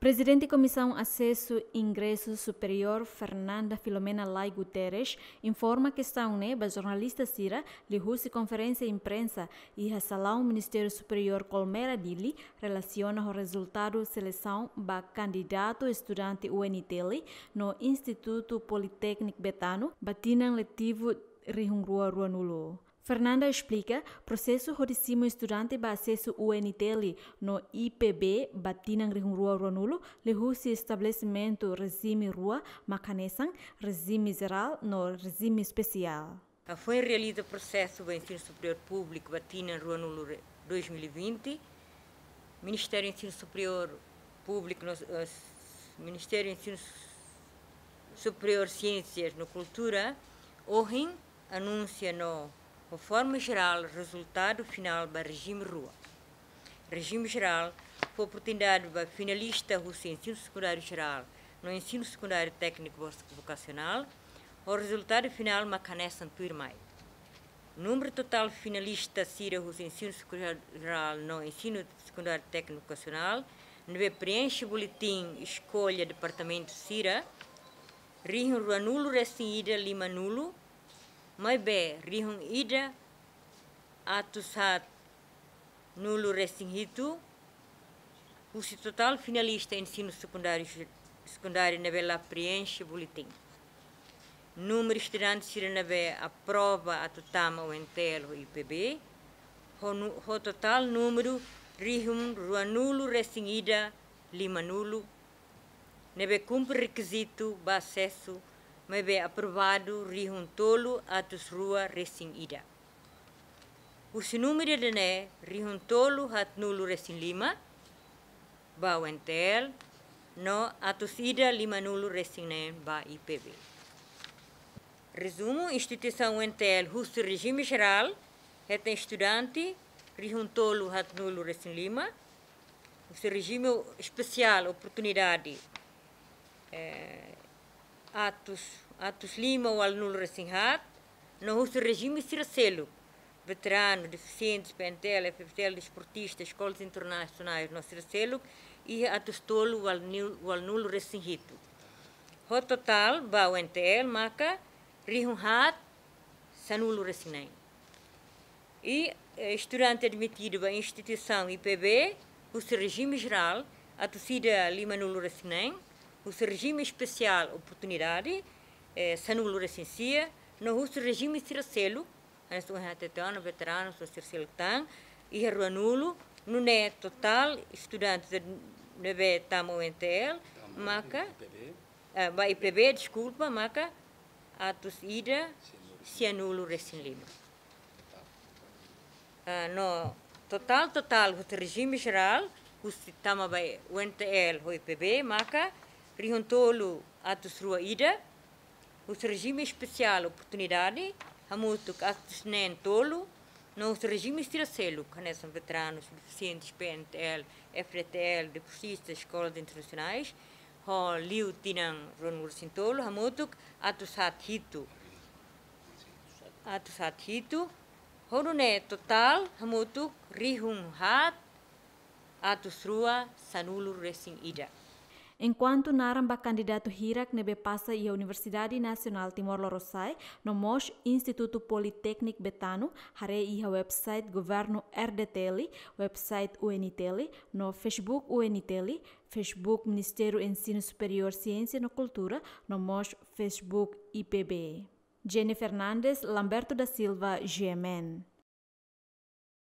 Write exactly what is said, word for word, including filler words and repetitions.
Prezidente Komisaun Asesu Ingresu Superiór, Fernanda Filomena Lay Guterres, informa kestaun ne'e ba jornalista sira liuhusi konferénsia imprensa iha salaun Ministériu Superiór Colmera, Dili, relasiona ho rezultadu selesaun ba kandidatu estudante U N T L no Institutu Politékniku Betano ba tinan letivu rihun rua ruanulu. Fernanda esplika, prosesu hodi simu estudante ba asesu U N T L no I P B ba tinan rihun rua ruanulu liuhusi estabelesimentu rejime rua, mak hanesan rejime jerál no rejime espesiál. Hafoin realiza prosesu ba ensinu superiór públiku ba tinan ruanulu re-, dois mil e vinte, Ministériu Ensinu Superiór Públiku no, eh, Ministériu Ensinu Superiór, Siénsias no Kultura, ohin anunsia no, ho forma jerál, rezultadu finál ba rejime rua. Rejime jerál fó oportunidade ba finalista husi ensinu sekundáriu jerál no ensinu sekundáriu tékniku vo-, vokasionál, ho rezultadu finál mak hanesan tuirmai. Númeru totál finalista sira husi ensinu sekundáriu jerál no ensinu sekundáriu tékniku vokasionál ne'ebé preenxe boletin eskolla departamentu sira, rihun ruanulu resin ida limanulu, maibé rihun ida atus haat nulu resin hitu husi totál finalista ensinu sekundáriu, sekundáriu ne'ebé la preenxe boletin. Númeru estudante sira ne'ebé aprova atu tama U N T L ho I P B, ho nu-, ho totál númeru rihun ruanulu resin ida limanulu, ne'ebé kumpre rekizitu ba asesu, maibé aprovadu rihun tolu atus rua resin ida. Husi númeru ida-ne'e, rihun tolu haatnulu resin lima ba U N T L, no atus ida limanulu resin neen ba I P B. Rezumu, instituisaun U N T L husi rejime jerál hetan estudante rihun tolu haatnulu resin lima, husi rejime espesiál oportunidade, eh, atus, atus lima ualunulu resin haat, no husi rejime sira seluk, veteranu, defisientes, P N T L, F F T L, desportista, eskolas internasionais no sira seluk, iha atus tolu ualunulu, ualunulu resin hitu. Ho totál ba U N T L maka rihun haat sanulu resin neen. I, eh, estudante admitidu ba instituisaun I P B husi rejime jerál, atus ida limanulu resin neen, husi rejime espesiál oportunidade, eh, sanulu resin sia, no husi rejime sira seluk, hanesan H T T O no veteranu no sira seluk tan, iha ruanulu, nune'e totál estudante ne'ebé tama U N T L, maka, eh, ba I P B, deskulpa, maka atus ida sianulu resin lima. Ah, no totál, totál husi rejime jerál, husi tama ba U N T L ho I P B, maka rihun tolu atus rua ida, husi rejime espesiál oportunidade, hamutuk atus neen tolu, no husi rejime sira seluk, hanesan veteranus, defisientes, P N T L, F D T L, desportistas, eskolas internasionais, ho liu tinan ruanulu resin tolu, hamutuk atus haat hitu. Atus haat hitu, ho nune'e totál hamutuk rihun haat atus rua sanulu resin ida. Enkuantu naran ba kandidatu hirak ne'ebé pasa iha Universidade Nasionál Timor Lorosa'e, no mós Institutu Politékniku Betano, haree iha website Governu R D T L, website U N T L, no Facebook U N T L, Facebook Ministériu Ensinu Superiór, Siénsia no Kultura, no mós Facebook I P B. Jenny Fernandes, Lamberto da Silva, G M N.